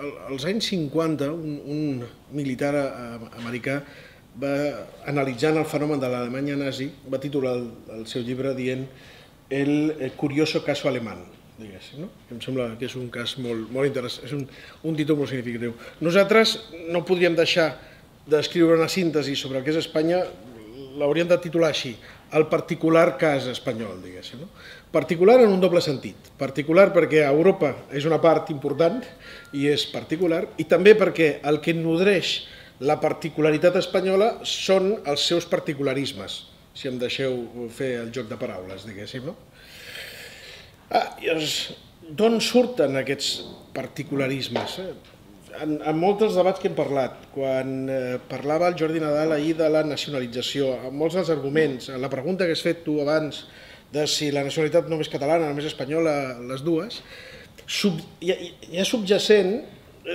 Als anys 50, un militar americà va, analitzant el fenomen de l'Alemanya nazi, va titular el seu llibre dient El curioso caso alemán, diguéssim, no? Em sembla que és un cas molt interessant, és un títol molt significatiu. Nosaltres no podríem deixar d'escriure una síntesi sobre el que és Espanya, l'hauríem de titular així, el particular cas espanyol, diguéssim. No? Particular en un doble sentit. Particular perquè Europa és una part important i és particular, i també perquè el que nodreix la particularitat espanyola són els seus particularismes, si em deixeu fer el joc de paraules, diguéssim. No? D'on surten aquests particularismes? En molts dels debats que hem parlat, quan parlava el Jordi Nadal ahir de la nacionalització, en molts dels arguments, la pregunta que has fet tu abans de si la nacionalitat només catalana, només espanyola, les dues, hi ha subjacent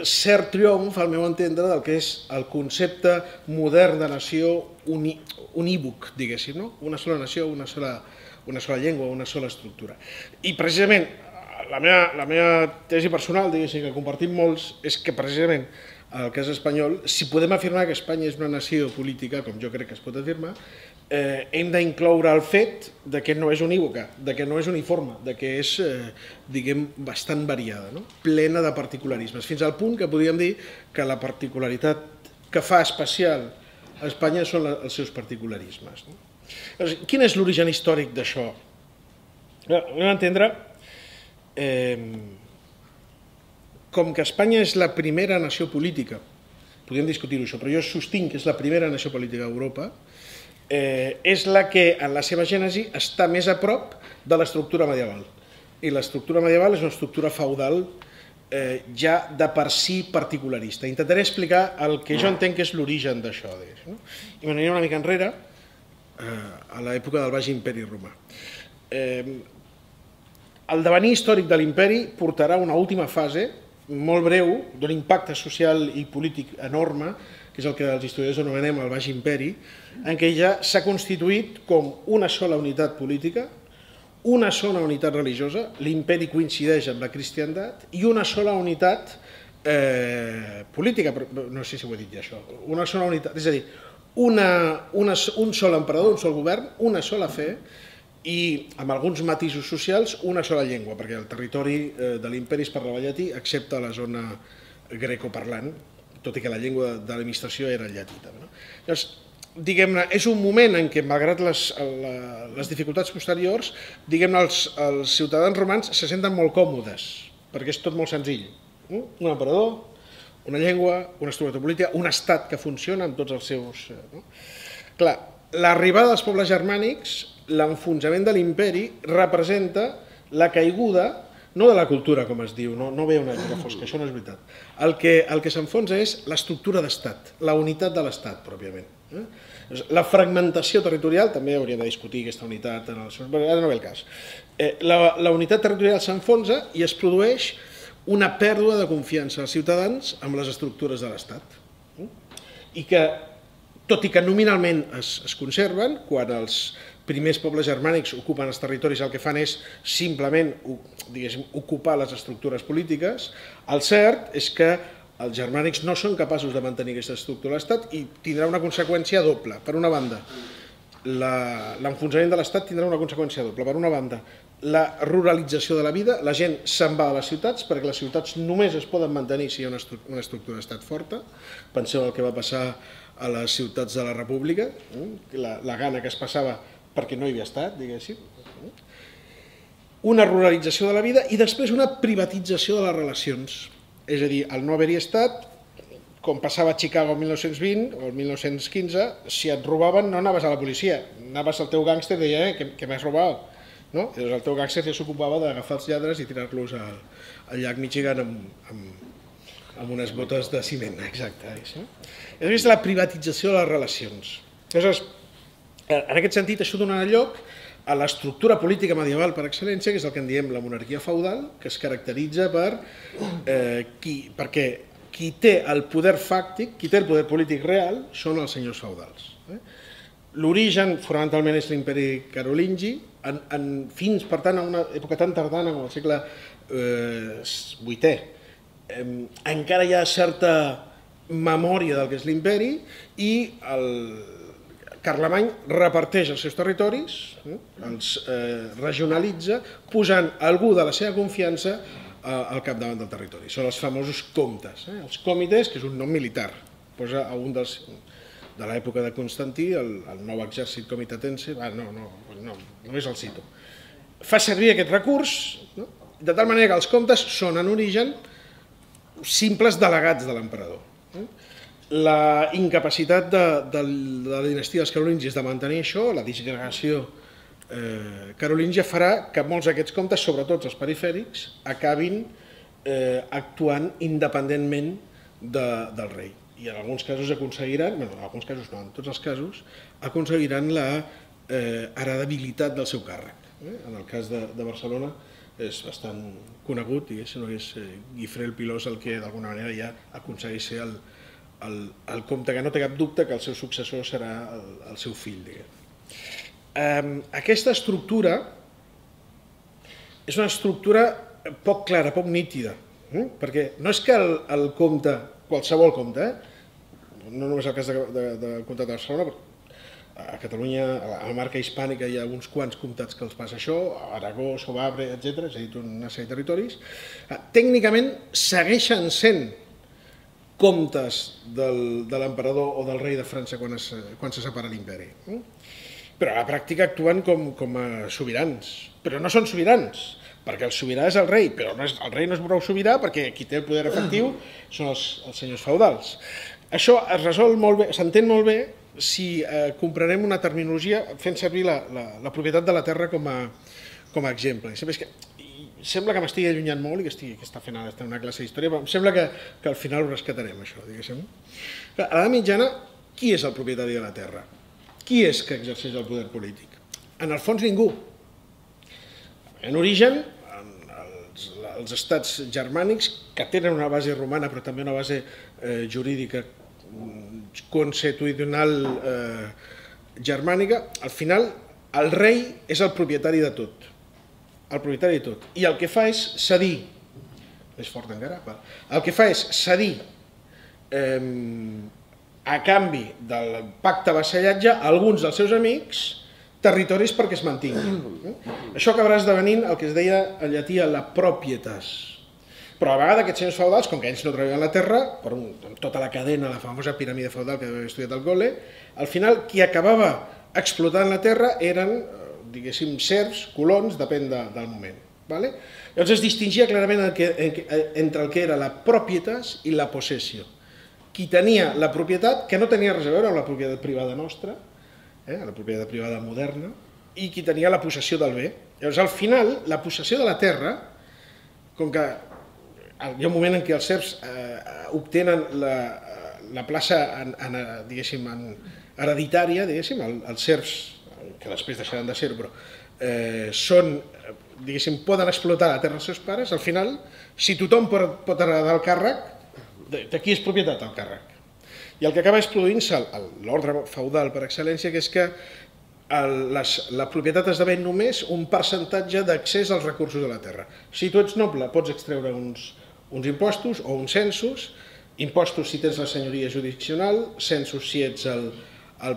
cert triomf, al meu entendre, del que és el concepte modern de nació unívoc, diguéssim, no? Una sola nació, una sola llengua, una sola estructura. I precisament la meva tesi personal, diguéssim, que compartim molts, és que precisament el cas espanyol, si podem afirmar que Espanya és una nació política, com jo crec que es pot afirmar, hem d'incloure el fet de que no és unívoca, de que no és uniforme, de que és, diguem, bastant variada, no? Plena de particularismes, fins al punt que podríem dir que la particularitat que fa especial a Espanya són els seus particularismes. Quin és l'origen històric d'això? Hem d'entendre com que Espanya és la primera nació política, podríem discutir-ho això, però jo sostinc que és la primera nació política d'Europa, és la que en la seva gènesi està més a prop de l'estructura medieval. I l'estructura medieval és una estructura feudal ja de per si particularista. Intentaré explicar el que jo entenc que és l'origen d'això. I m'aniré una mica enrere, a l'època del Baix Imperi Romà. El devenir històric de l'imperi portarà una última fase, molt breu, d'un impacte social i polític enorme, que és el que els historiadors anomenem el Baix Imperi, en què ja s'ha constituït com una sola unitat política, una sola unitat religiosa, l'imperi coincideix amb la cristiandat, i una sola unitat política, no sé si ho he dit ja això, una sola unitat, és a dir, un sol emperador, un sol govern, una sola fe, i amb alguns matisos socials una sola llengua, perquè el territori de l'imperi es parlava llatí, excepte la zona grecoparlant, tot i que la llengua de l'administració era el llatí també. Llavors, diguem-ne, és un moment en què, malgrat les dificultats posteriors, diguem-ne, els ciutadans romans se senten molt còmodes, perquè és tot molt senzill. Un emperador, una llengua, una estructura política, un estat que funciona amb tots els seus... Clar, l'arribada dels pobles germànics, l'enfonsament de l'imperi, representa la caiguda, no de la cultura, com es diu, no ve una època fosca, això no és veritat. El que s'enfonsa és l'estructura d'estat, la unitat de l'estat, pròpiament. La fragmentació territorial, també hauríem de discutir aquesta unitat, ara no ve el cas. La unitat territorial s'enfonsa i es produeix una pèrdua de confiança als ciutadans amb les estructures de l'estat. I que, tot i que nominalment es conserven, quan els primers pobles germànics ocupen els territoris, el que fan és simplement ocupar les estructures polítiques, el cert és que els germànics no són capaços de mantenir aquesta estructura de l'estat i tindrà una conseqüència doble. Per una banda, l'enfonsament de l'estat tindrà una conseqüència doble. Per una banda, la ruralització de la vida, la gent se'n va a les ciutats perquè les ciutats només es poden mantenir si hi ha una estructura d'estat forta. Penseu el que va passar a les ciutats de la República, la gana que es passava perquè no hi havia estat, diguéssim. Una ruralització de la vida i després una privatització de les relacions. És a dir, al no haver-hi estat, com passava a Chicago el 1920 o el 1915, si et robaven no anaves a la policia, anaves al teu gàngster i deia que m'has robat. Llavors el teu gàngster ja s'ocupava d'agafar els lladres i tirar-los al llac Michigan amb unes botes de ciment. Exacte. És la privatització de les relacions. Llavors, en aquest sentit, això donarà lloc a l'estructura política medieval per excel·lència, que és el que en diem la monarquia feudal, que es caracteritza perquè qui té el poder fàctic, qui té el poder polític real, són els senyors feudals. L'origen, fonamentalment, és l'imperi carolingi, fins, per tant, a una època tan tardana com el segle VIII, encara hi ha certa memòria del que és l'imperi i Carlemany reparteix els seus territoris, els regionalitza, posant algú de la seva confiança al capdavant del territori. Són els famosos comtes, els comites, que és un nom militar. Posa a un dels... de l'època de Constantí, el nou exèrcit comitatense, només el cito. Fa servir aquest recurs, de tal manera que els comtes són en origen simples delegats de l'emperador. La incapacitat de la dinastia dels carolingis de mantenir això, la disgregació carolíngia, farà que molts d'aquests comtes, sobretot els perifèrics, acabin actuant independentment del rei. I en alguns casos aconseguiran, en alguns casos no, en tots els casos, aconseguiran la heredabilitat del seu càrrec. En el cas de Barcelona és bastant conegut, diguéssim, és Guifré el Pilós el que d'alguna manera ja aconsegueix ser el comte que no té cap dubte que el seu successor serà el seu fill. Aquesta estructura és una estructura poc clara, poc nítida, perquè no és que el comte, qualsevol comte, no només el cas del comtat de Barcelona, a Catalunya, a la marca hispànica hi ha uns quants comtats que els passa això, Aragó, Sovabre, etc., és a dir, una sèrie de territoris, tècnicament segueixen sent comtes de l'emperador o del rei de França quan se separa l'imperi. Però a la pràctica actuen com a sobirans, però no són sobirans, perquè el sobirà és el rei, però el rei no és prou sobirà perquè qui té el poder efectiu són els senyors feudals. Això es resol molt bé, s'entén molt bé si comprenem una terminologia fent servir la propietat de la terra com a exemple. Sembla que m'estigui allunyant molt i que està fent una classe d'història, però em sembla que al final ho rescatarem, això, diguéssim. A l'edat mitjana, qui és el propietari de la terra? Qui és que exerceix el poder polític? En el fons, ningú. En origen, els estats germànics, que tenen una base romana però també una base jurídica consuetudinal germànica, al final el rei és el propietari de tot. El propietari de tot. I el que fa és cedir, és fort encara, el que fa és cedir a canvi del pacte vassallatge a alguns dels seus amics territoris perquè es mantinguin. Això acabarà esdevenint el que es deia en llatí la propietas. Però a la vegada aquests senyors feudals, com que ells no treballen la terra, per tota la cadena, la famosa piràmide feudal que havia estudiat al col·le, al final qui acabava explotant la terra eren, diguéssim, serfs, colons, depèn del moment. Llavors es distingia clarament entre el que era la propietas i la possessió. Qui tenia la propietat, que no tenia res a veure amb la propietat privada nostra, la propietat privada moderna, i qui tenia la possessió del bé. Llavors, al final, la possessió de la terra, com que hi ha un moment en què els serfs obtenen la plaça hereditària, els serfs, que després deixaran de ser-ho, però poden explotar la terra dels seus pares, al final, si tothom pot heredar el càrrec, de qui és propietat el càrrec? I el que acaba és produint-se l'ordre feudal per excel·lència, que és que la propietat esdevé només un percentatge d'accés als recursos de la terra. Si tu ets noble pots extreure uns impostos o uns censos, impostos si tens la senyoria jurisdiccional, censos si ets el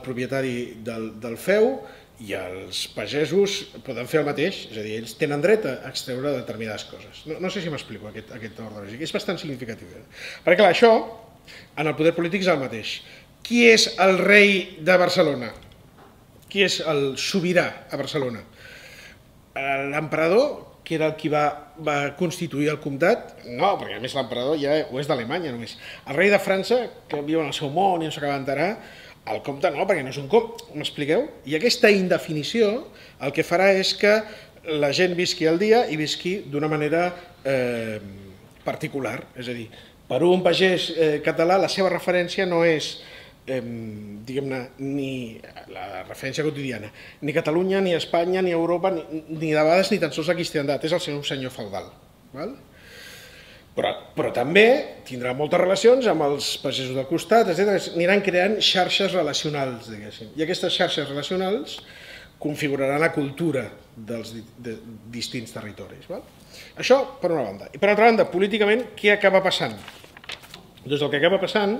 propietari del feu, i els pagesos poden fer el mateix, és a dir, ells tenen dret a extreure determinades coses. No sé si m'explico aquest ordre lògic, és bastant significatiu. Perquè clar, això en el poder polític és el mateix. Qui és el rei de Barcelona? Qui és el sobirà a Barcelona? L'emperador, que era el qui va constituir el comtat? No, perquè a més l'emperador ja ho és d'Alemanya només. El rei de França, que viu en el seu món i no s'acaba d'enterar, el comte no, perquè no és un comte, m'expliqueu? I aquesta indefinició el que farà és que la gent visqui al dia i visqui d'una manera particular, és a dir, per un pagès català la seva referència no és, diguem-ne, ni la referència quotidiana, ni Catalunya, ni Espanya, ni Europa, ni de vegades ni tan sols la cristiandat, és el seu senyor feudal. Però també tindrà moltes relacions amb els pagesos del costat, etc. Aniran creant xarxes relacionals, diguéssim. I aquestes xarxes relacionals configurarà la cultura dels distints territoris. Això per una banda. I per altra banda, políticament, què acaba passant? Doncs el que acaba passant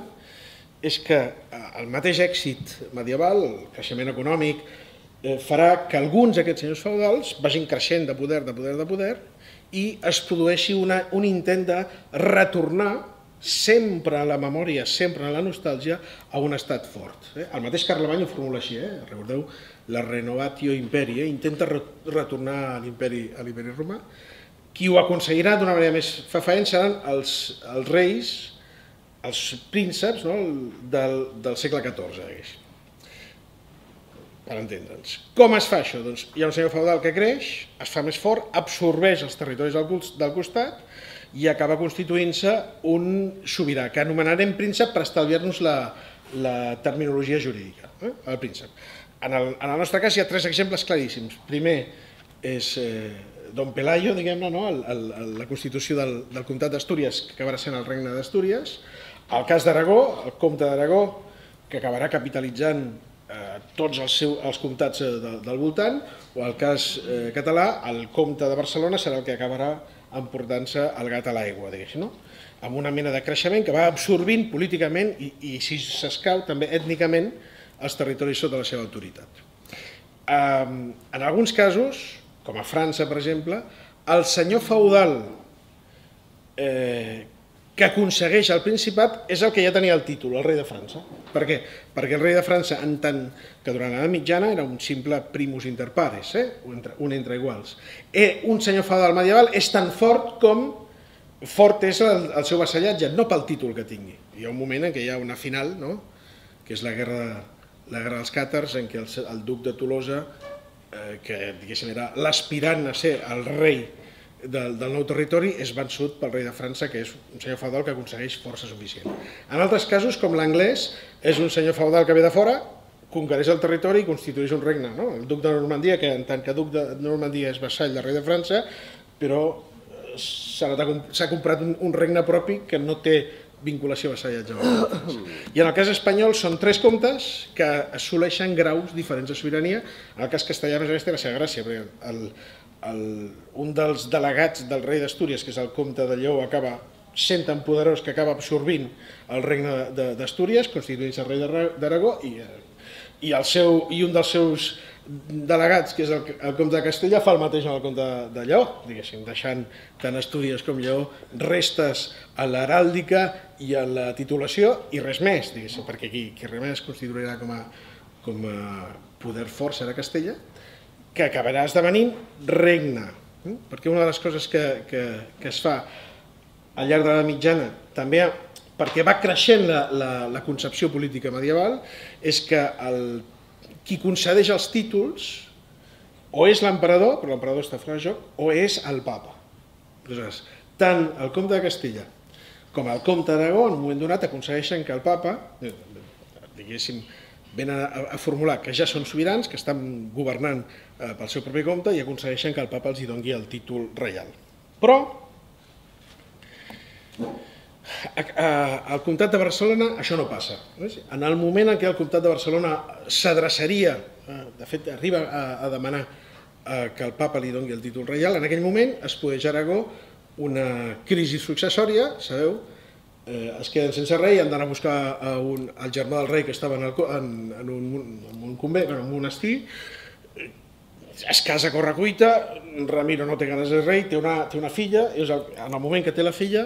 és que el mateix èxit medieval, el creixement econòmic, farà que alguns d'aquests senyors feudals vagin creixent de poder, i es produeixi un intent de retornar sempre a la memòria, sempre a la nostàlgia, a un estat fort. El mateix Carlemany ho formula així, recordeu, la renovatio imperi, intenta retornar a l'imperi romà. Qui ho aconseguirà d'una manera més fefaent seran els reis, els prínceps del segle XIV, per entendre'ns. Com es fa això? Doncs hi ha un senyor feudal que creix, es fa més fort, absorbeix els territoris del costat i acaba constituint-se un sobirà, que anomenarem príncep per estalviar-nos la terminologia jurídica, el príncep. En el nostre cas hi ha tres exemples claríssims. Primer és Don Pelayo, diguem-ne, la constitució del comtat d'Astúries, que acabarà sent el regne d'Astúries, el cas d'Aragó, el comte d'Aragó, que acabarà capitalitzant tots els comtats del voltant, o el cas català, el comte de Barcelona serà el que acabarà emportant-se el gat a l'aigua, diguéssim, amb una mena de creixement que va absorbint políticament i, si s'escau, també ètnicament els territoris sota la seva autoritat. En alguns casos, com a França, per exemple, el senyor feudal que aconsegueix el Principat és el que ja tenia el títol, el rei de França. Per què? Perquè el rei de França, en tant que durant l'edat mitjana era un simple primus inter pares, un entre iguals. Un senyor feudal medieval és tan fort com fort és el seu vassallatge, no pel títol que tingui. Hi ha un moment en què hi ha una final, que és la guerra dels càtars, en què el duc de Tolosa, que diguéssim era l'aspirant a ser el rei del nou territori, és vençut pel rei de França, que és un senyor feudal que aconsegueix força suficient. En altres casos, com l'anglès, és un senyor feudal que ve de fora, conquereix el territori i constitueix un regne. El duc de Normandia, que en tant que duc de Normandia és vassall del rei de França, però s'ha comprat un regne propi que no té vinculació a vassallatge. I en el cas espanyol són tres comtes que assoleixen graus diferents de sobirania. En el cas castellà, a més a més, té la seva gràcia, perquè un dels delegats del rei d'Astúries, que és el comte de Lleó, acaba sent tan poderós que acaba absorbint el regne d'Astúries, constituint-se rei d'Aragó, i un dels seus delegats, que és el comte de Castella, fa el mateix amb el comte de Lleó, diguéssim, deixant tant Astúries com Lleó restes a l'heràldica i a la titulació i res més, diguéssim, perquè qui res més es constituirà com a poder fort serà Castella, que acabarà esdevenint regne. Perquè una de les coses que es fa al llarg de l'edat mitjana, també perquè va creixent la concepció política medieval, és que qui concedeix els títols o és l'emperador, però l'emperador està fora de joc, o és el papa. Aleshores, tant el comte de Castella com el comte d'Aragó, en un moment donat, aconsegueixen que el papa, diguéssim, venen a formular que ja són sobirans, que estan governant pel seu propi compte i aconsegueixen que el papa els doni el títol reial. Però al comtat de Barcelona això no passa. En el moment en què el comtat de Barcelona s'adreçaria, de fet arriba a demanar que el papa li doni el títol reial, en aquell moment es produeix a Aragó una crisi successòria, sabeu, es queden sense rei, han d'anar a buscar el germà del rei que estava en un convent, en un monestir, es casa a correcuita, Ramiro no té ganes de rei, té una filla, i en el moment que té la filla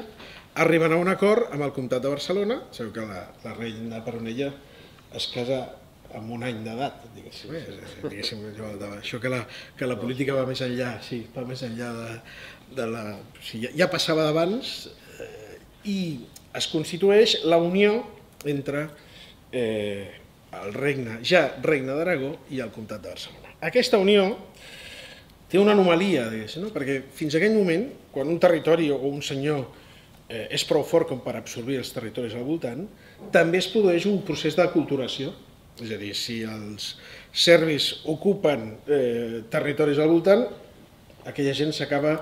arriben a un acord amb el comtat de Barcelona, sabeu que la reina Peronella es casa amb un any d'edat, diguéssim, això que la política va més enllà, sí, va més enllà de la... Ja passava d'abans i es constitueix la unió entre el regne, ja regne d'Aragó, i el comtat de Barcelona. Aquesta unió té una anomalia, perquè fins a aquell moment, quan un territori o un senyor és prou fort com per absorbir els territoris al voltant, també es produeix un procés d'aculturació. És a dir, si els serbis ocupen territoris al voltant, aquella gent s'acaba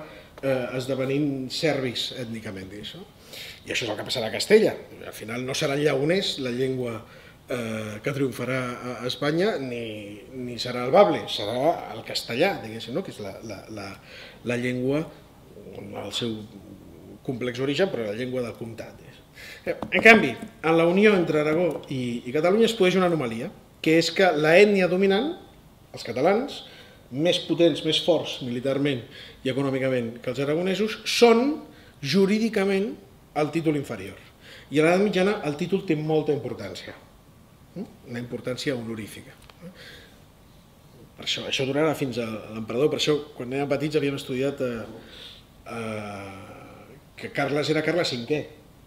esdevenint serbis ètnicament. I això és el que passarà a Castella. Al final no seran lleoners, la llengua que triomfarà a Espanya ni serà el bable, serà el castellà, diguéssim, que és la llengua, el seu complex origen, però la llengua del comtat. En canvi, en la unió entre Aragó i Catalunya es produeix una anomalia, que és que l'ètnia dominant, els catalans, més potents, més forts militarment i econòmicament que els aragonesos, són jurídicament el títol inferior. I a l'edat mitjana el títol té molta importància, una importància honorífica. Per això durarà fins a l'emperador, per això quan érem petits havíem estudiat que Carles era Carles V.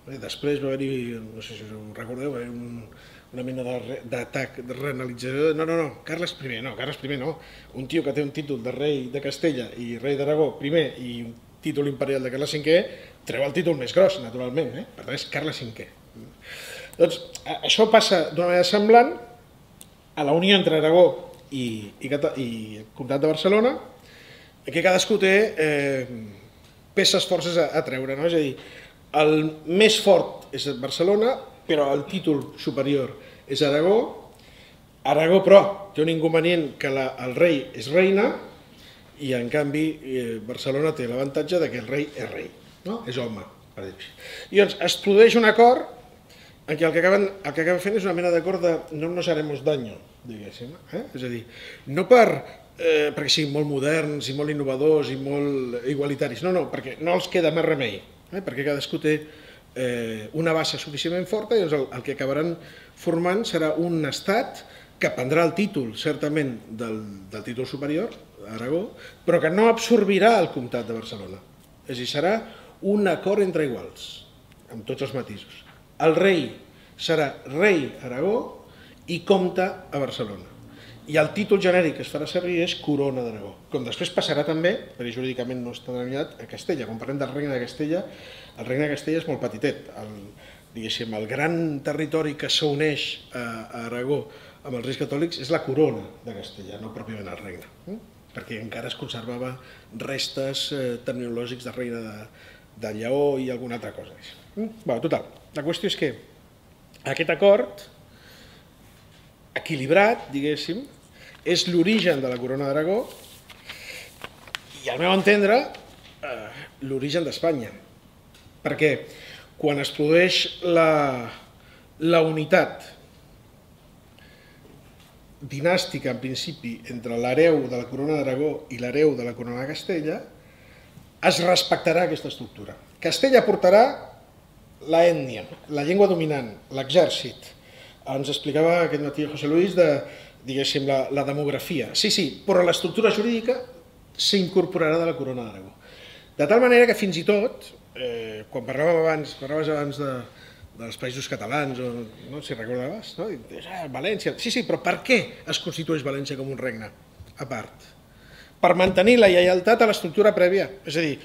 Després va haver-hi, no sé si us ho recordeu, va haver una mena d'atac, de renalització. No, Carles I no. Un tio que té un títol de rei de Castella i rei d'Aragó primer i un títol imperial de Carles V treu el títol més gros, naturalment, per tant és Carles V. Doncs això passa d'una manera semblant a la unió entre Aragó i Comtat de Barcelona, que cadascú té peces forces a treure, és a dir, el més fort és Barcelona, però el títol superior és Aragó. Aragó, però, té un inconvenient que el rei és reina i, en canvi, Barcelona té l'avantatge que el rei és rei, és home, per dir-ho així. I llavors es produeix un acord en què el que acaben fent és una mena d'acord de no nos haremos daño, diguéssim. És a dir, no perquè siguin molt moderns i molt innovadors i molt igualitaris, no, perquè no els queda més remei, perquè cadascú té una base suficientment forta i el que acabaran formant serà un estat que prendrà el títol, certament, del títol superior, Aragó, però que no absorbirà el comtat de Barcelona. És a dir, serà un acord entre iguals, amb tots els matisos. El rei serà rei Aragó i comte a Barcelona. I el títol genèric que es farà servir és Corona d'Aragó, com després passarà també, perquè jurídicament no està determinat, a Castella. Quan parlem del Regne de Castella, el Regne de Castella és molt petitet. El gran territori que s'uneix a Aragó amb els Reis Catòlics és la Corona de Castella, no pròpiament el Regne, perquè encara es conservava restes terminològics del Regne de Lleó i alguna altra cosa. Total, la qüestió és que aquest acord equilibrat, diguéssim, és l'origen de la Corona d'Aragó i, al meu entendre, l'origen d'Espanya. Perquè quan es produeix la unitat dinàstica, en principi, entre l'hereu de la Corona d'Aragó i l'hereu de la Corona de Castella, es respectarà aquesta estructura. Castella portarà l'ètnia, la llengua dominant, l'exèrcit. Ens explicava aquest matí José Luis diguéssim, la demografia. Sí, però l'estructura jurídica s'incorporarà de la Corona d'Aragó. De tal manera que fins i tot, quan parlaves abans dels països catalans, no si recordaves, València, sí, però per què es constitueix València com un regne a part? Per mantenir la lleialtat a l'estructura prèvia. És a dir,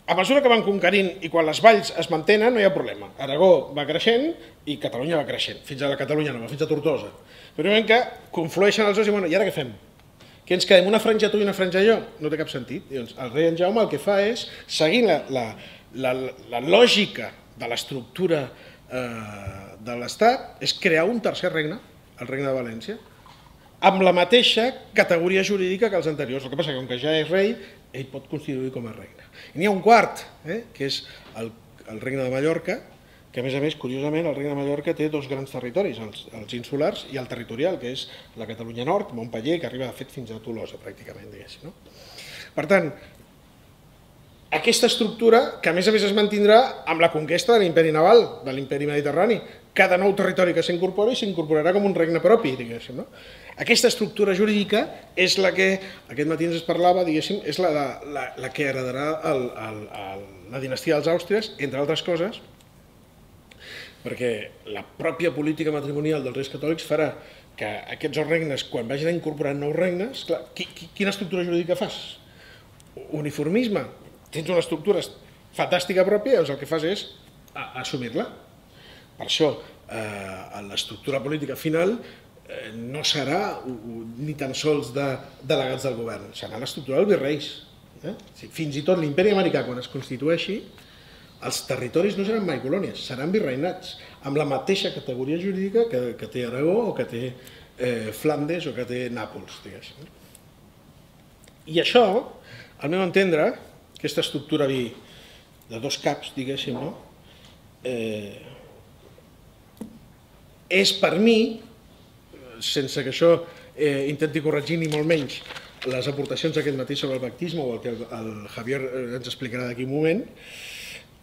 a mesura que van conquerint i quan les valls es mantenen no hi ha problema. Aragó va creixent i Catalunya va creixent, fins a la Catalunya nova, fins a Tortosa. Però un moment que conflueixen els dos i i ara què fem? Que ens quedem una franja tu i una franja jo? No té cap sentit. El rei en Jaume el que fa és, seguint la lògica de l'estructura de l'Estat, és crear un tercer regne, el regne de València, amb la mateixa categoria jurídica que els anteriors. El que passa que, com que ja és rei, ell pot constituir com a regne. I n'hi ha un quart, que és el regne de Mallorca, que a més, curiosament, el regne de Mallorca té dos grans territoris, els insulars i el territorial, que és la Catalunya Nord, Montpeller, que arriba, de fet, fins a Tolosa, pràcticament, diguéssim. Per tant, aquesta estructura, que a més es mantindrà amb la conquesta de l'imperi naval, de l'imperi mediterrani. Cada nou territori que s'incorpora s'incorporarà com un regne propi, diguéssim. Aquesta estructura jurídica és la que, aquest matí ens parlava, diguéssim, és la que heredarà la dinastia dels Àustries, entre altres coses, perquè la pròpia política matrimonial dels Reis Catòlics farà que aquests dos regnes, quan vagin incorporant nous regnes, quina estructura jurídica fas? Uniformisme. Tens una estructura fantàstica pròpia, doncs el que fas és assumir-la. Per això, l'estructura política final no serà ni tan sols de delegats del govern, serà l'estructura dels virreis. Fins i tot l'imperi americà, quan es constitueixi, els territoris no seran mai colònies, seran virreinats, amb la mateixa categoria jurídica que té Aragó o que té Flandes o que té Nàpols, diguéssim. I això, al meu entendre, aquesta estructura de dos caps, diguéssim, és per mi, sense que això intenti corregir ni molt menys les aportacions d'aquest matí sobre el pactisme o el que el Javier ens explicarà d'aquí un moment,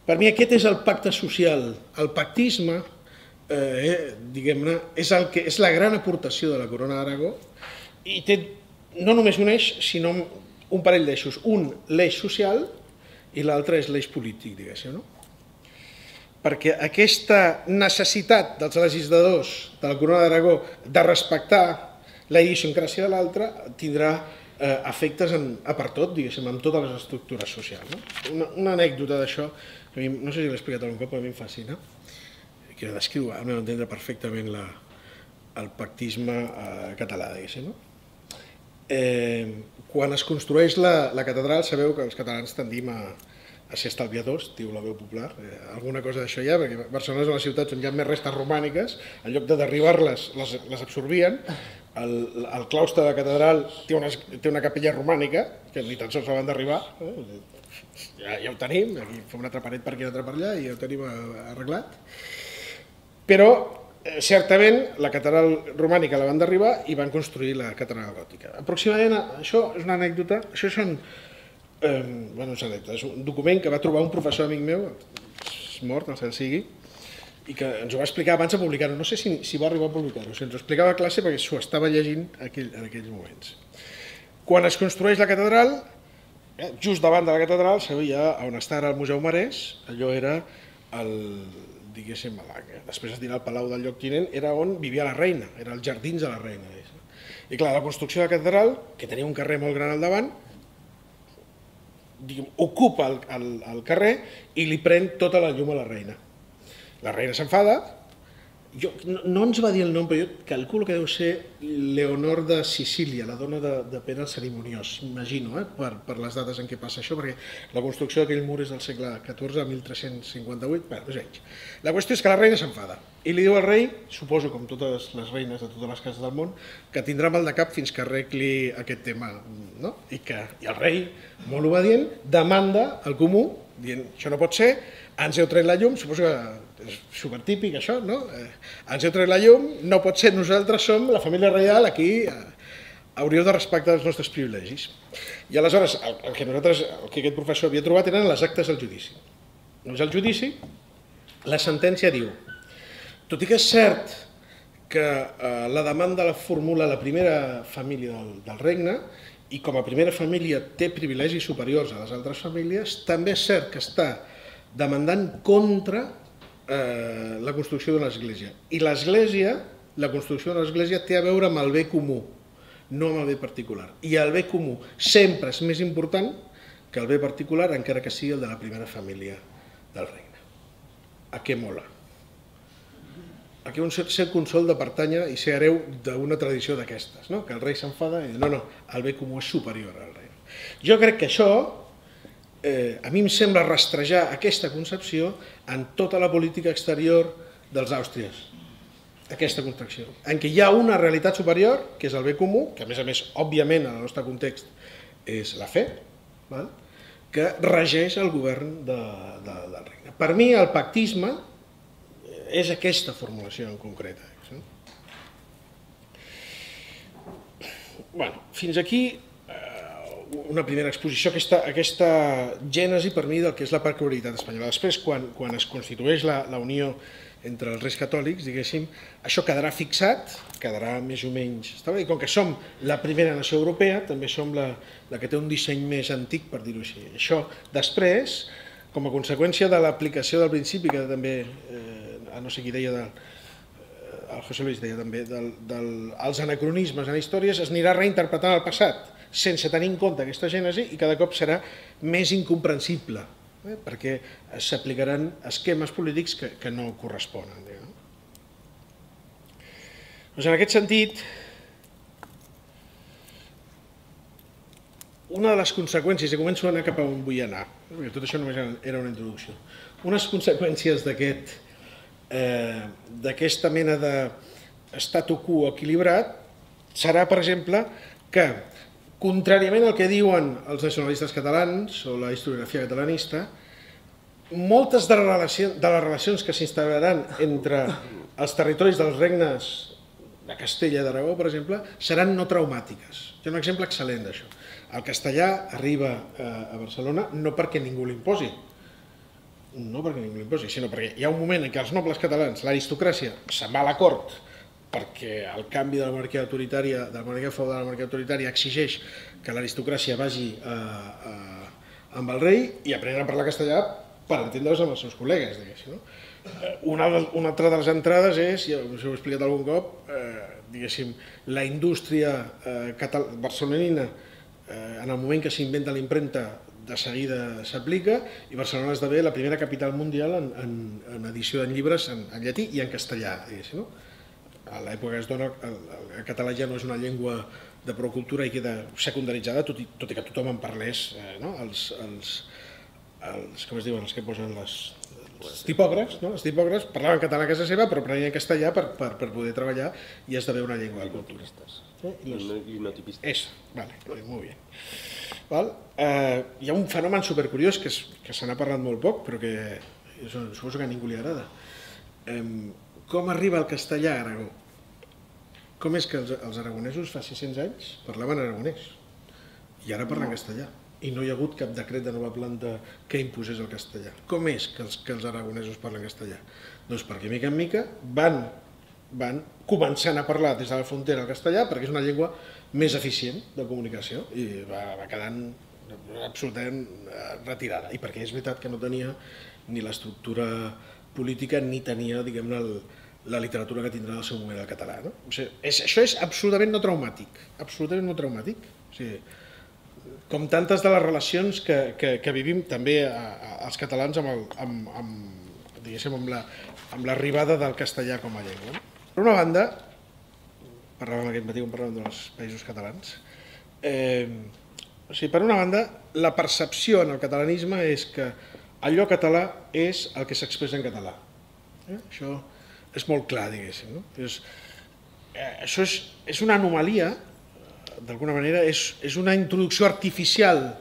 per mi aquest és el pacte social. El pactisme, diguem-ne, és la gran aportació de la Corona d'Aragó i té no només un eix, sinó un parell d'eixos. Un, l'eix social, i l'altre és l'eix polític, diguéssim, no? Perquè aquesta necessitat dels legisladors de la Corona d'Aragó de respectar la idiosincràsia de l'altre tindrà efectes per tot, diguéssim, amb totes les estructures socials. Una anècdota d'això, no sé si l'he explicat algun cop, però a mi em fascina, que descriu, al meu entendre, perfectament el pactisme català, diguéssim. Quan es construeix la catedral, sabeu que els catalans tendim a ser estalviadors, diu la veu popular, alguna cosa d'això hi ha, perquè Barcelona és una ciutat on hi ha més restes romàniques, en lloc de derribar-les, les absorbien. El claustre de la catedral té una capella romànica, que ni tan sols la van derribar, ja ho tenim, aquí fa una altra paret per aquí i una altra per allà, i ja ho tenim arreglat. Però, certament, la catedral romànica la van derribar i van construir la catedral gòtica. Aproximadament, això és una anècdota, això són és un document que va trobar un professor amic meu, és mort, el cel sigui, i que ens ho va explicar abans de publicar-ho. No sé si va arribar a publicar-ho, ens ho explicava a classe perquè s'ho estava llegint en aquells moments. Quan es construeix la catedral, just davant de la catedral, sabia on està el Museu Marès, allò era diguéssim, després es dirà el Palau del Lloctinent, era on vivia la reina, era els jardins de la reina. I clar, la construcció de la catedral, que tenia un carrer molt gran al davant, ocupa el carrer i li pren tota la llum a la reina. La reina s'enfada, no ens va dir el nom, però jo calculo que deu ser Leonor de Sicília, la dona de Pere el Cerimoniós, imagino, per les dates en què passa això, perquè la construcció d'aquell mur és del segle XIV, 1358, més o menys. La qüestió és que la reina s'enfada i li diu al rei, suposo com totes les reines de totes les cases del món, que tindrà mal de cap fins que arregli aquest tema, i el rei, molt obedient, demanda al comú, dient, això no pot ser, ens heu tret la llum, suposo que és supertípic això, no? Ens heu tret la llum, no pot ser, nosaltres som la família reial, aquí hauríeu de respectar els nostres privilegis. I aleshores, el que aquest professor havia trobat eren les actes del judici. Doncs al judici, la sentència diu, tot i que és cert que la demanda la formula la primera família del regne, i com a primera família té privilegis superiors a les altres famílies, també és cert que està demandant contra la construcció d'una església. I l'església, la construcció d'una església té a veure amb el bé comú, no amb el bé particular. I el bé comú sempre és més important que el bé particular, encara que sigui el de la primera família del regne. A què mola? A què un ser consol de pertànyer i ser hereu d'una tradició d'aquestes, que el rei s'enfada i diu, no, el bé comú és superior al rei. Jo crec que això a mi em sembla rastrejar aquesta concepció en tota la política exterior dels àustries, aquesta construcció, en què hi ha una realitat superior, que és el bé comú, que a més, òbviament, en el nostre context, és la fe, que regeix el govern del regne. Per mi, el pactisme és aquesta formulació en concreta. Fins aquí una primera exposició, aquesta gènesi per mi del que és la peculiaritat espanyola. Després, quan es constitueix la unió entre els reis catòlics, diguéssim, això quedarà fixat, quedarà més o menys establert, i com que som la primera nació europea, també som la que té un disseny més antic, per dir-ho així. Això, després, com a conseqüència de l'aplicació del principi, que també, no sé qui deia, el José Luis deia també, dels anacronismes en històries, es anirà reinterpretant el passat, sense tenir en compte aquesta gènesi, i cada cop serà més incomprensible, perquè s'aplicaran esquemes polítics que no corresponen. En aquest sentit, una de les conseqüències, i començo a anar cap a on vull anar, Tot això només era una introducció. Unes conseqüències d'aquesta mena de statu quo equilibrat serà, per exemple, que, contràriament al que diuen els nacionalistes catalans o la historiografia catalanista, moltes de les relacions que s'instauraran entre els territoris dels regnes de Castella i d'Aragó, per exemple, seran no traumàtiques. Hi ha un exemple excel·lent d'això. El castellà arriba a Barcelona no perquè ningú l'imposi, sinó perquè hi ha un moment en què els nobles catalans, l'aristocràcia, se'n va a la cort perquè el canvi de la monarquia autoritària, de la monarquia feudal a la monarquia autoritària, exigeix que l'aristocràcia vagi amb el rei i aprenen a parlar castellà per entendre's amb els seus col·legues, diguéssim. Una altra de les entrades és, ja us ho he explicat algun cop, diguéssim, la indústria barcelonina, en el moment que s'inventa l'impremta, de seguida s'aplica, i Barcelona esdevé la primera capital mundial en edició de llibres en llatí i en castellà, diguéssim. A l'època que es dona, el català ja no és una llengua de prou cultura i queda secundaritzada, tot i que tothom en parlés, com es diuen, els que posen els tipògrafs, els tipògrafs parlaven català a casa seva però aprenien castellà per poder treballar i esdevé una llengua de cultura. I no tipistes. Vale, molt bé. Hi ha un fenomen supercuriós que se n'ha parlat molt poc però que suposo que a ningú li agrada. Com arriba el castellà a Aragó? Com és que els aragonesos fa 600 anys parlaven aragonès i ara parlen castellà i no hi ha hagut cap decret de nova planta que imposés el castellà? Com és que els aragonesos parlen castellà? Doncs perquè mica en mica van començant a parlar des de la frontera el castellà perquè és una llengua més eficient de comunicació i va quedant absolutament retirada i perquè és veritat que no tenia ni l'estructura política ni tenia, diguem-ne, la literatura que tindrà en el seu moment el català. Això és absolutament no traumàtic, absolutament no traumàtic. Com tantes de les relacions que vivim també els catalans amb l'arribada del castellà com a llengua. Per una banda, parlàvem aquest matí quan parlàvem dels països catalans, per una banda, la percepció en el catalanisme és que allò català és el que s'expressa en català. Això és molt clar, diguéssim. Això és una anomalia, d'alguna manera, és una introducció artificial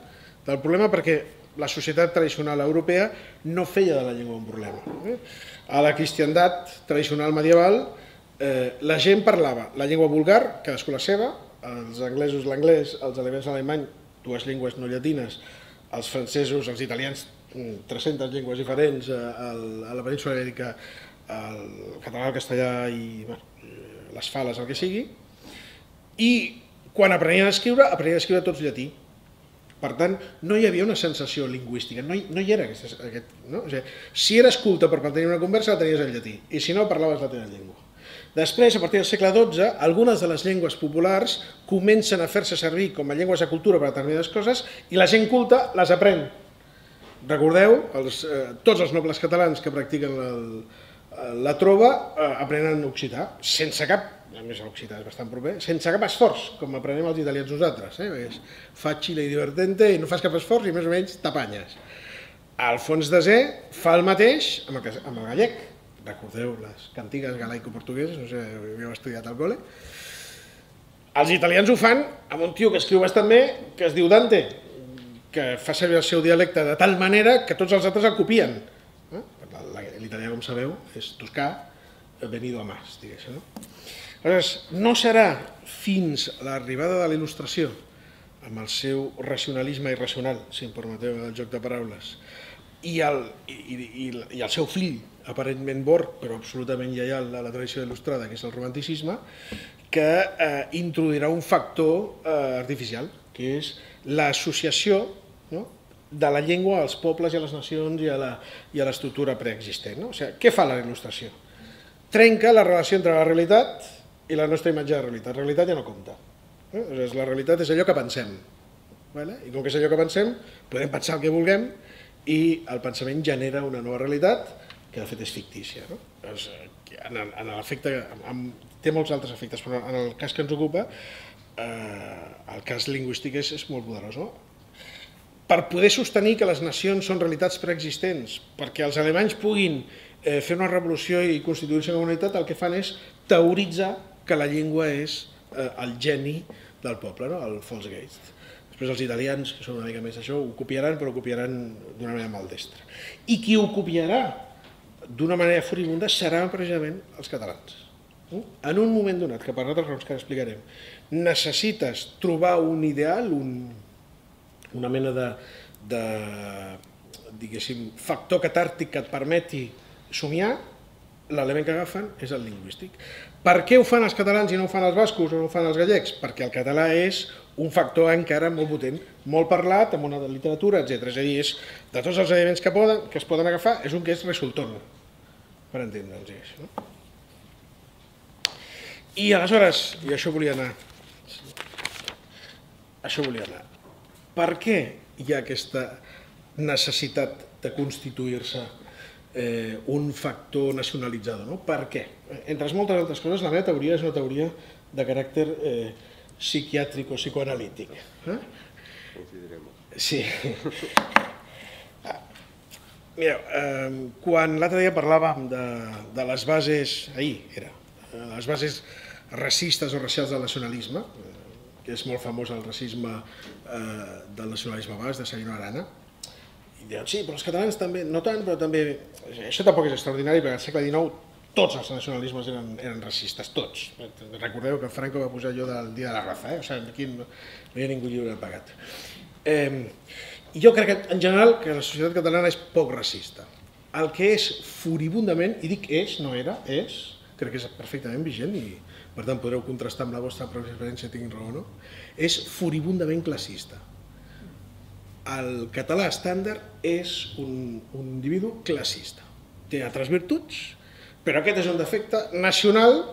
del problema perquè la societat tradicional europea no feia de la llengua un problema. A la cristiandat tradicional medieval la gent parlava la llengua vulgar, cadascú la seva, els anglesos l'anglès, els alemanys l'alemany, dues llengües no llatines, els francesos, els italians, 300 llengües diferents, a la península ibèrica, el català, el castellà i les fales, el que sigui, i quan aprenien a escriure tots llatí. Per tant, no hi havia una sensació lingüística, no hi era aquest... Si eres culte per tenir una conversa, la tenies en llatí, i si no, parlaves la teva llengua. Després, a partir del segle XII, algunes de les llengües populars comencen a fer-se servir com a llengües de cultura per a determinades coses i la gent culta les aprèn. Recordeu, tots els nobles catalans que practiquen la trova aprenen occità, sense cap, a més l'occità és bastant proper, sense cap esforç, com aprenem els italians nosaltres. És facile i divertente i no fas cap esforç i més o menys t'apanyes. Alfons X fa el mateix amb el gallec. Recordeu les cantigues galaico-portugueses, no sé, havíeu estudiat al col·le. Els italians ho fan amb un tio que escriu bastant bé, que es diu Dante, que fa servir el seu dialecte de tal manera que tots els altres el copien. L'italià, com sabeu, és toscà, venido a más, diguéssim. Aleshores, no serà fins a l'arribada de la Il·lustració, amb el seu racionalisme irracional, si em permeteu el joc de paraules, i el seu fill, aparentment bord, però absolutament lleial a la tradició il·lustrada, que és el romanticisme, que introduirà un factor artificial, que és l'associació de la llengua als pobles i a les nacions i a l'estructura preexistent. Què fa la il·lustració? Trenca la relació entre la realitat i la nostra imatge de realitat. La realitat ja no compta. La realitat és allò que pensem. I com que és allò que pensem, podem pensar el que vulguem i el pensament genera una nova realitat que de fet és fictícia. En l'efecte, té molts altres efectes, però en el cas que ens ocupa, el cas lingüístic és molt poderós. per poder sostenir que les nacions són realitats preexistents, perquè els alemanys puguin fer una revolució i constituir-se com a unitat, el que fan és teoritzar que la llengua és el geni del poble, el Volksgeist. Després els italians, que són una mica més això, ho copiaran, però ho copiaran d'una manera maldestra. I qui ho copiarà d'una manera furibunda seran precisament els catalans. En un moment donat, que per altres raons que ara explicarem, necessites trobar un ideal, una mena de diguéssim, factor catàrtic que et permeti somiar, l'element que agafen és el lingüístic. Per què ho fan els catalans i no ho fan els bascos o no ho fan els gallecs? Perquè el català és un factor encara molt potent, molt parlat, amb una literatura, etc. És a dir, de tots els elements que es poden agafar, és un que és resultón, per entendre'ns. I aleshores, i això volia anar, per què hi ha aquesta necessitat de constituir-se un factor nacionalitzador? Per què? Entre moltes altres coses, la meva teoria és una teoria de caràcter psiquiàtric o psicoanalític. Sí. Mireu, quan l'altre dia parlàvem de les bases, ahir era, les bases racistes o racials del nacionalisme, que és molt famós el racisme del nacionalisme basc, de Sabino Arana, i diuen, sí, però els catalans també, no tant, però també... Això tampoc és extraordinari, perquè al segle XIX tots els nacionalismes eren racistes, tots. Recordeu que Franco va posar allò del Dia de la Raza, o sigui, aquí no hi ha ningú lliure de pagat. I jo crec que, en general, que la societat catalana és poc racista. El que és furibundament, i dic és, no era, és, crec que és perfectament vigent i per tant podreu contrastar amb la vostra pròpia experiència, tinguin raó o no, és furibundament classista. El català estàndard és un individu classista. Té altres virtuts, però aquest és un defecte nacional,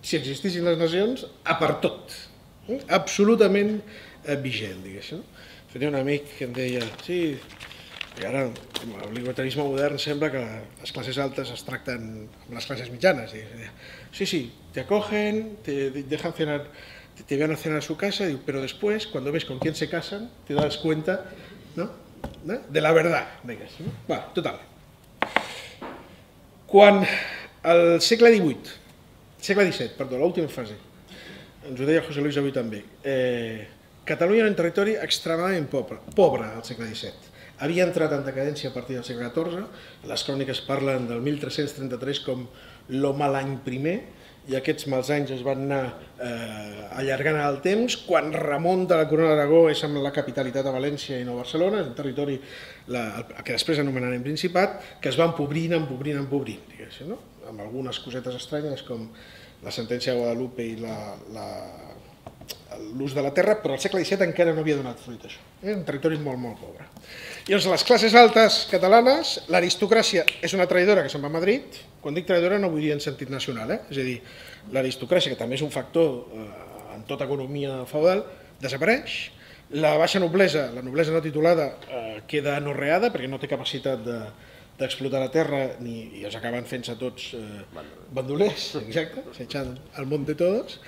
si existissin les nacions, a per tot. Absolutament vigent, diguéssim. Tenia un amic que em deia, sí, i ara el libertarisme modern sembla que les classes altes es tracten amb les classes mitjanes. Sí, te acogen, te dejan cenar, te van a cenar a su casa, pero después, cuando ves con quién se casan, te das cuenta, ¿no?, de la verdad. Bueno, total. Quan al segle XVII, perdó, l'última fase, ens ho deia José Luis avui també, Catalunya era un territori extremadament pobre al segle XVII. Havia entrat en decadència a partir del segle XIV, les cròniques parlen del 1333 com lo mal any primer, i aquests mals anys es van anar allargant al temps. Quan Ramon de la Corona d'Aragó és amb la capitalitat a València i no a Barcelona, és un territori que després anomenarem Principat, que es va empobrint, diguéssim, amb algunes cosetes estranyes com la sentència de Guadalupe i l'ús de la terra, però al segle XVII encara no havia donat fruit això. És un territori molt, molt pobre. Llavors, les classes altes catalanes, l'aristocràcia és una traïdora que se'n va a Madrid. Quan dic traïdora no vull dir en sentit nacional, és a dir, l'aristocràcia, que també és un factor en tota economia feudal, desapareix. La baixa noblesa, la noblesa no titulada, queda anorreada perquè no té capacitat d'explotar la terra i es acaben fent-se tots bandolers, exacte, s'eixant al monte todos.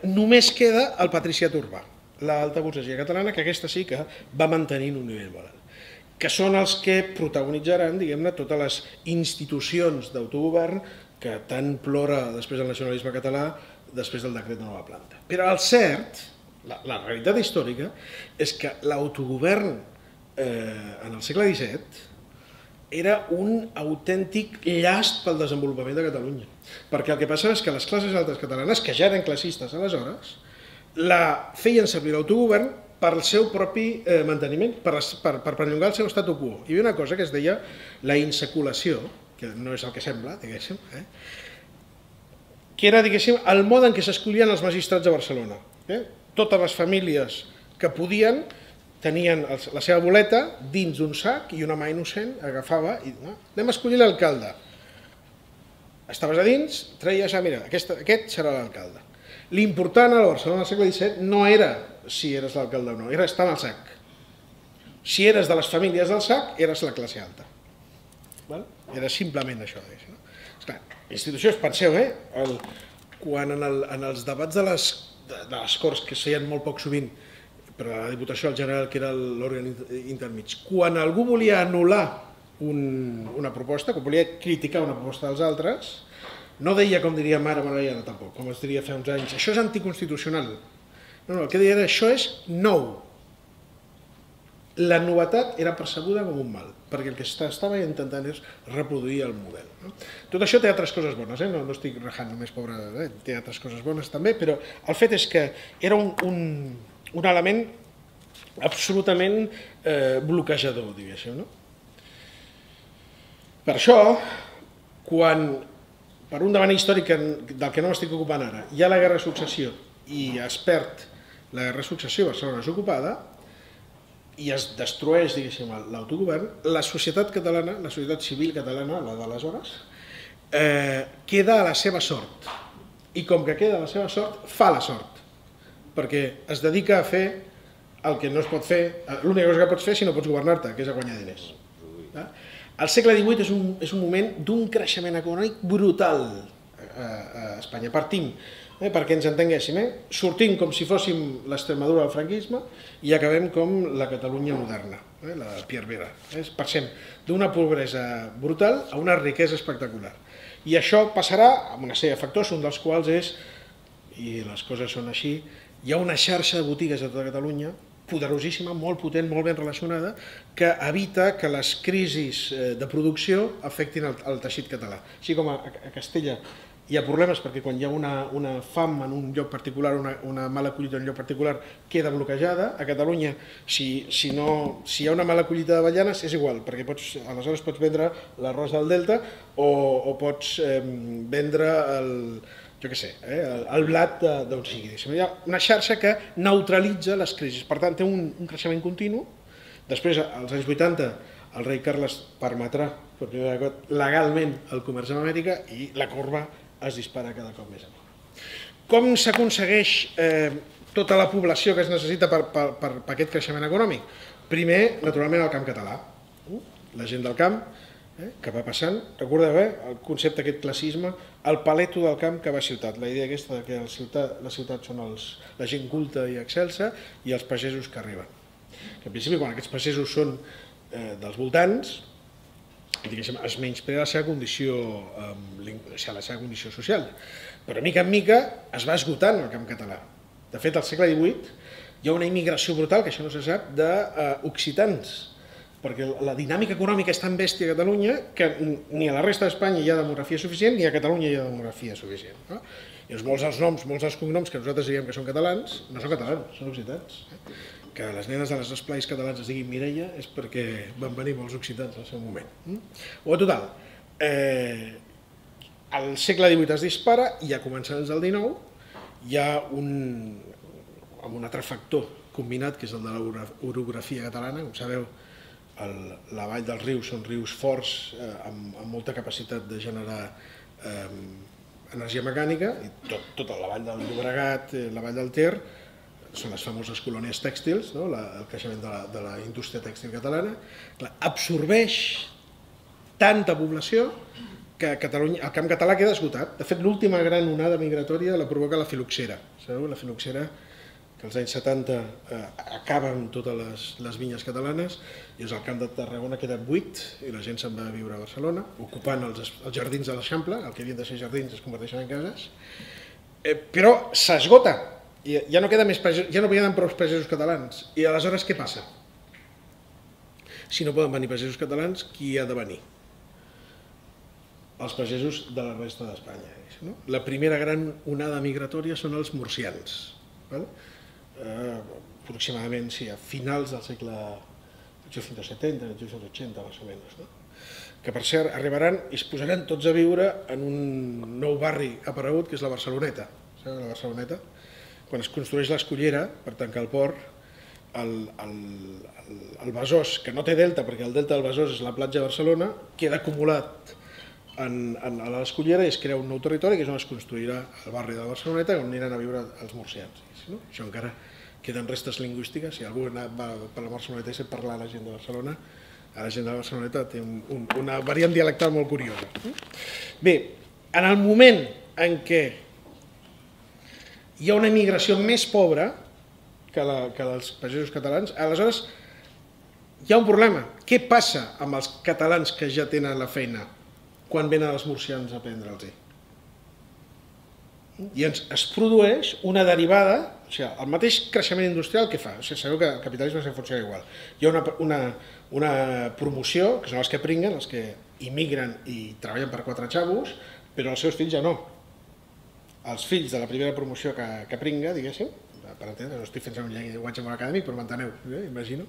Només queda el patriciat urbà, l'alta burgesia catalana, que aquesta sí que va mantenint un nivell moral, que són els que protagonitzaran, diguem-ne, totes les institucions d'autogovern que tant plora després del nacionalisme català, després del decret de nova planta. Però el cert, la realitat històrica, és que l'autogovern en el segle XVII era un autèntic llast pel desenvolupament de Catalunya. Perquè el que passava és que les classes altes catalanes, que ja eren classistes aleshores, feien servir l'autogovern per al seu propi manteniment, per perllongar el seu statu quo. Hi havia una cosa que es deia la insaculació, que no és el que sembla, diguéssim, que era, diguéssim, el mode en què s'escollien els magistrats de Barcelona. Totes les famílies que podien tenien la seva boleta dins d'un sac i una mà innocent agafava i anem a escollir l'alcalde. Estaves a dins, treies, mira, aquest serà l'alcalde. L'important a la Barcelona del segle XVII no era si eres l'alcalde o no, era estar en el sac. Si eres de les famílies del sac, eres la classe alta. Era simplement això. La institució, penseu, quan en els debats de les Corts, que es feien molt poc sovint, però la Diputació del General, que era l'òrgan intermig. Quan algú volia anul·lar una proposta, quan volia criticar una proposta dels altres, no deia com diria ara Maragall, tampoc, com es diria fa uns anys, això és anticonstitucional. No, el que deia era això és nou. La novetat era percebuda com un mal, perquè el que estava intentant és reproduir el model. Tot això té altres coses bones, no estic rajant només, pobre, té altres coses bones també, però el fet és que era un element absolutament bloquejador, diguéssim. Per això, quan per un davant històric del que no m'estic ocupant ara, hi ha la guerra de successió i es perd la guerra de successió, Barcelona és ocupada, i es destrueix, diguéssim, l'autogovern, la societat catalana, la societat civil catalana, la d'aleshores, queda a la seva sort. I com que queda a la seva sort, fa la sort. Perquè es dedica a fer el que no es pot fer, l'única cosa que pots fer si no pots governar-te, que és a guanyar diners. El segle XVIII és un moment d'un creixement econòmic brutal a Espanya. Partim, perquè ens entenguéssim, sortim com si fóssim l'Extremadura del franquisme i acabem com la Catalunya moderna, la de Pierre Vera. Passem d'una pobresa brutal a una riquesa espectacular. I això passarà amb una sèrie de factors, un dels quals és, i les coses són així, hi ha una xarxa de botigues a tota Catalunya, poderosíssima, molt potent, molt ben relacionada, que evita que les crisis de producció afectin el teixit català. Així com a Castella hi ha problemes perquè quan hi ha una fam en un lloc particular, una mala collita en un lloc particular, queda bloquejada. A Catalunya, si hi ha una mala collita d'avellanes, és igual, perquè aleshores pots vendre l'arròs del Delta o pots vendre el blat d'on sigui. Hi ha una xarxa que neutralitza les crisis, per tant té un creixement continu. Després, als anys 80, el rei Carles permetrà per primera vegada legalment el comerç amb Amèrica i la corba es dispara cada cop més amunt. Com s'aconsegueix tota la població que es necessita per aquest creixement econòmic? Primer, naturalment, el camp català. La gent del camp que va passant. Recordeu el concepte d'aquest classisme, el paleto del camp que va a ciutat. La idea aquesta que la ciutat són la gent culta i excelsa i els pagesos que arriben. Que en principi, quan aquests pagesos són dels voltants, es menysprea la seva condició social, però mica en mica es va esgotant el camp català. De fet, al segle XVIII hi ha una immigració brutal, que això no se sap, d'occitans, perquè la dinàmica econòmica és tan bèstia a Catalunya que ni a la resta d'Espanya hi ha demografia suficient ni a Catalunya hi ha demografia suficient. I molts dels cognoms que nosaltres diríem que són catalans, no són catalans, són occitans. Que les nenes de les esplais catalans es diguin Mireia és perquè van venir molts occitans al seu moment. Total, el segle XVIII es dispara i a començaments del XIX hi ha un altre factor combinat, que és el de l'orografia catalana. Com sabeu, la vall dels rius són rius forts amb molta capacitat de generar energia mecànica, i tota la vall del Llobregat, la vall del Ter, són les famoses colònies tèxtils, el creixement de la indústria tèxtil catalana, absorbeix tanta població que el camp català queda esgotat. De fet, l'última gran onada migratòria la provoca la filoxera. Sabeu? La filoxera, que als anys 70 acaben totes les vinyes catalanes, i el camp de Tarragona queda buit i la gent se'n va a viure a Barcelona, ocupant els jardins de l'Eixample, el que havien de ser jardins es converteixen en cases, però s'esgota. Ja no queden prou pagesos catalans. I aleshores què passa? Si no poden venir pagesos catalans, qui ha de venir? Els pagesos de la resta d'Espanya. La primera gran onada migratòria són els murcians. Aproximadament a finals del segle 1870, 1880, més o menys. Que per cert arribaran i es posaran tots a viure en un nou barri aparegut que és la Barceloneta. Sabeu la Barceloneta? Quan es construeix l'Escullera per tancar el port, el Besòs, que no té delta, perquè el delta del Besòs és la platja de Barcelona, queda acumulat a l'Escullera i es crea un nou territori, que és on es construirà el barri de la Barceloneta, on aniran a viure els murcians. Això encara queden restes lingüístiques. Si algú va per la Barceloneta i sap parlar a la gent de Barcelona, la gent de la Barceloneta té una variant dialectal molt curiosa. Bé, en el moment en què hi ha una immigració més pobra, que els pagesos catalans. Aleshores, hi ha un problema. Què passa amb els catalans que ja tenen la feina quan venen els murcians a prendre'ls-hi? I es produeix una derivada, o sigui, el mateix creixement industrial que fa. O sigui, sabeu que el capitalisme funciona igual. Hi ha una promoció, que són els que pringuen, els que immigren i treballen per 4 xavos, però els seus fills ja no. Els fills de la primera promoció que pringa, diguéssim, per entendre, no estic fent un llenguatge molt acadèmic, però m'enteneu, imagino,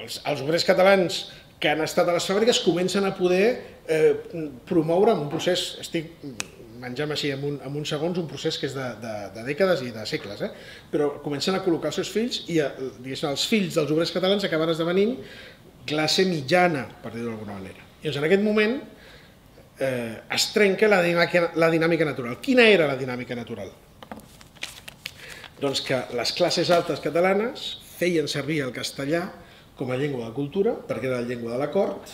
els obrers catalans que han estat a les fàbriques comencen a poder promoure en un procés, estic menjant així en uns segons, un procés que és de dècades i de segles, però comencen a col·locar els seus fills i els fills dels obrers catalans acaben esdevenint classe mitjana, per dir-ho d'alguna manera. I en aquest moment es trenca la dinàmica natural. Quina era la dinàmica natural? Doncs que les classes altes catalanes feien servir el castellà com a llengua de cultura, perquè era la llengua de la cort,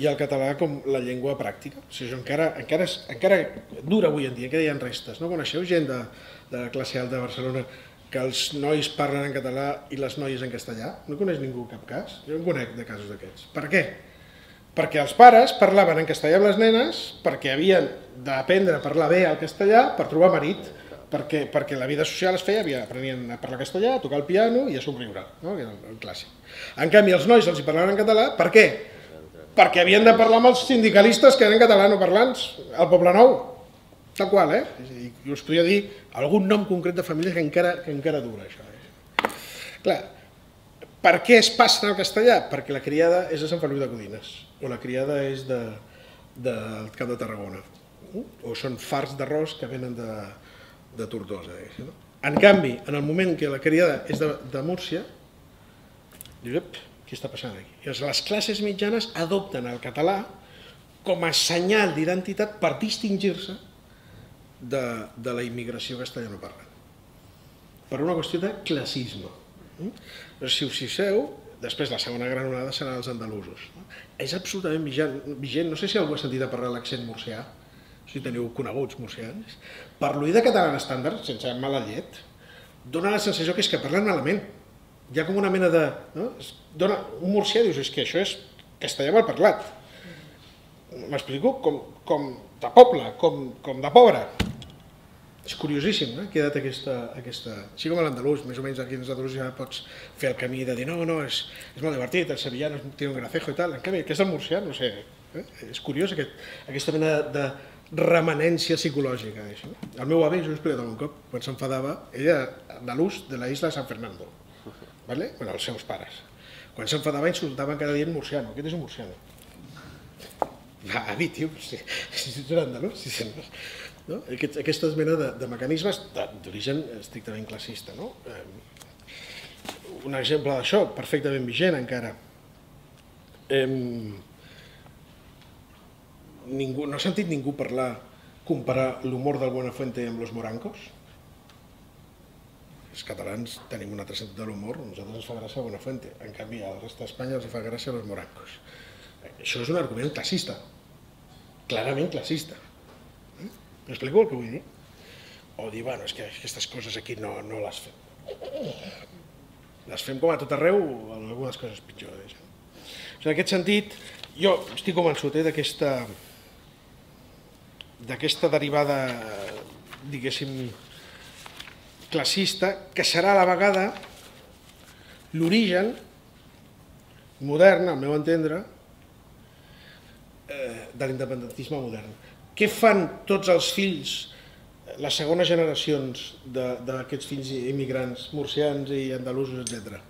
i el català com la llengua pràctica. O sigui, encara dura avui en dia, encara hi ha restes. No coneixeu gent de la classe alta de Barcelona que els nois parlen en català i les noies en castellà? No coneix ningú cap cas? Jo en conec de casos d'aquests. Per què? Perquè els pares parlaven en castellà amb les nenes perquè havien d'aprendre a parlar bé el castellà per trobar marit, perquè la vida social es feia, aprenien a parlar castellà, a tocar el piano i a somriure, que era el clàssic. En canvi, els nois els hi parlaven en català, per què? Perquè havien de parlar amb els sindicalistes que eren catalanoparlants, al Poble Nou, tal qual, I us podria dir algun nom concret de família que encara dura, això. Clar, per què es passen al castellà? Perquè la criada és de Sant Feliu de Codines, o la criada és del Camp de Tarragona, o són farts d'arròs que venen de Tortosa. En canvi, en el moment que la criada és de Múrcia, dius, què està passant aquí? Les classes mitjanes adopten el català com a senyal d'identitat per distingir-se de la immigració castellanoparlant. Per una qüestió de classisme. Però si us fixeu, després la segona gran onada seran els andalusos. És absolutament vigent, no sé si algú ha sentit a parlar l'accent murcià, si teniu coneguts murcians. Per l'oïda catalana estàndard, sense mala llet, dona la sensació que és que parlen malament. Hi ha com una mena de... Un murcià dius, és que això és castellà mal parlat. M'explico? Com de poble, com de pobre. És curiosíssim, que ha quedat aquesta... Així com l'andalús, més o menys aquí en els andalús ja pots fer el camí de dir no, és molt divertit, el sevillano té un gracejo i tal. En canvi, aquest és el murcià, no sé, és curiós aquesta mena de remanència psicològica. El meu avi, jo ho he explicat algun cop, quan s'enfadava, ell era andalús de la isla de San Fernando. Els seus pares. Quan s'enfadava insultaven cada dia en murciano. Aquest és un murciano. Avi, tio, si ets un andalús. Aquesta mena de mecanismes d'origen estrictament classista. Un exemple d'això, perfectament vigent encara. No ha sentit ningú comparar l'humor del Buenafuente amb los morancos? Els catalans tenim un altre sentit de l'humor, a nosaltres ens fa gràcia Buenafuente, en canvi al resta d'Espanya els fa gràcia los morancos. Això és un argument classista, clarament classista. M'explico el que vull dir? O dir, bueno, és que aquestes coses aquí no les fem. Les fem com a tot arreu, algunes coses pitjors. En aquest sentit, jo estic convençut d'aquesta derivada, diguéssim, classista, que serà a la vegada l'origen modern, al meu entendre, de l'independentisme modern. Què fan tots els fills, les segones generacions d'aquests fills immigrants murcians i andalusos, etc.,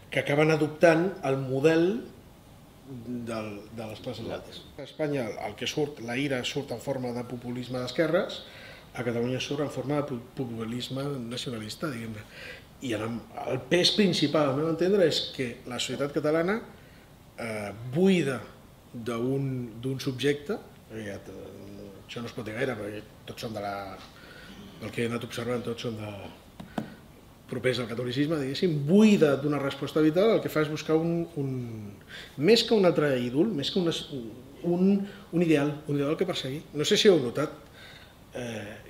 que acaben adoptant el model de les classes altes. A Espanya el que surt, la ira surt en forma de populisme d'esquerres, a Catalunya surt en forma de populisme nacionalista, diguem-ne. I el pes principal, al meu entendre, és que la societat catalana, buida d'un subjecte, això no es pot dir gaire, perquè tots són del que he anat observant, tots són propers al catolicisme, diguéssim, buida d'una resposta vital, el que fa és buscar més que un altre ídol, més que un ideal que perseguir. No sé si heu notat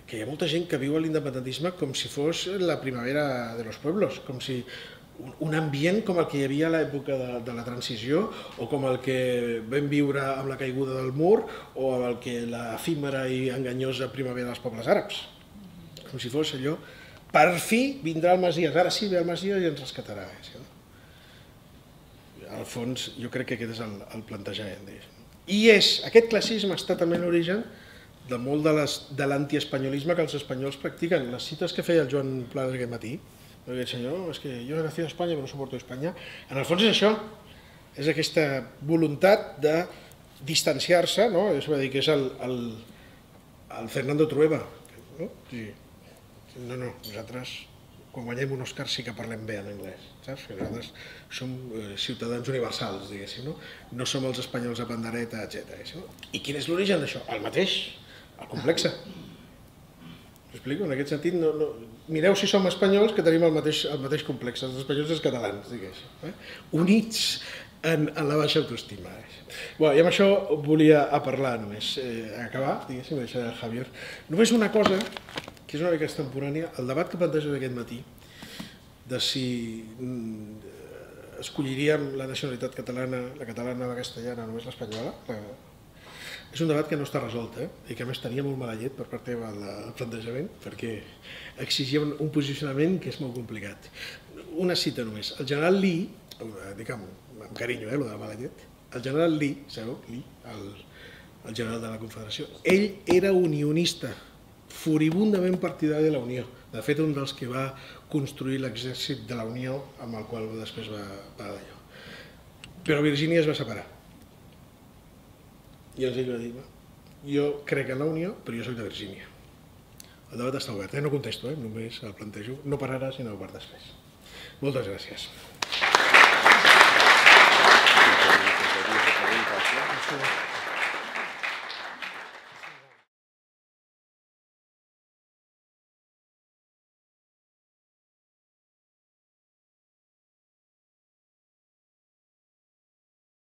que que hi ha molta gent que viu l'independentisme com si fos la primavera de los pueblos, com si un ambient com el que hi havia a l'època de la transició o com el que vam viure amb la caiguda del mur o amb el que l'efímera i enganyosa primavera dels pobles àrabs. Com si fos allò, per fi vindrà el Messies, ara sí ve el Messies i ens rescatarà. Al fons jo crec que aquest és el plantejament. I aquest classisme està també en l'origen de molt de l'antiespanyolisme que els espanyols practiquen. Les cites que feia el Joan Planas aquest matí, el senyor, és que jo he nacido a Espanya però no soporto Espanya, en el fons és això, és aquesta voluntat de distanciar-se, és a dir, que és el Fernando Trueba. No, nosaltres quan guanyem un Òscar sí que parlem bé en anglès, saps? Nosaltres som ciutadans universals, diguéssim, no som els espanyols a pandereta, etc. I quin és l'origen d'això? El mateix, el complexe. M'explico? En aquest sentit, mireu si som espanyols que tenim el mateix complexe, els espanyols i els catalans, diguéssim, units en la baixa autoestima. I amb això volia parlar només, acabar, diguéssim, deixar el Javier. Només una cosa, que és una mica extemporània, el debat que planteges aquest matí, de si escolliríem la nacionalitat catalana, la catalana, la castellana, només l'espanyola, és un debat que no està resolt i que a més tenia molt mala llet per part teva el plantejament perquè exigia un posicionament que és molt complicat. Una cita només. El general Lee, dic amb carinyo, el de la mala llet, el general Lee, sabeu? Lee, el general de la Confederació, ell era unionista, furibundament partidari de la Unió. De fet, un dels que va construir l'exèrcit de la Unió amb el qual després va d'allò. Però Virgínia es va separar. I ell va dir, jo crec en la Unió, però jo soc de Virgínia. El debat està obert, no contesto, només el plantejo, no per ara, sinó per després. Moltes gràcies.